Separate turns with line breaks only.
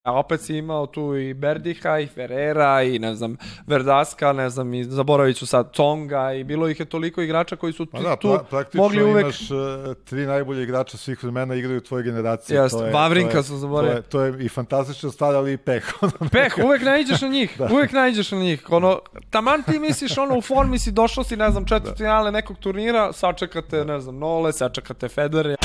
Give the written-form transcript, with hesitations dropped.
A opet si imao tu i Berdiha i Ferrera i ne znam Verdaska, ne znam i zaboravit ću sad Tonga i bilo ih je toliko igrača koji su tu mogli uvek...
Praktično imaš 3 najbolje igrača svih vremena igraju u tvojoj generaciji.
Vavrinka su zaboravili.
To je i fantastična stvar, ali i peh.
Uvek naiđeš na njih. Uvek naiđeš na njih. Taman ti misliš u formi si došao si, ne znam, četvrtfinale nekog turnira, sačekate, ne znam, Nole, sačekate Federer.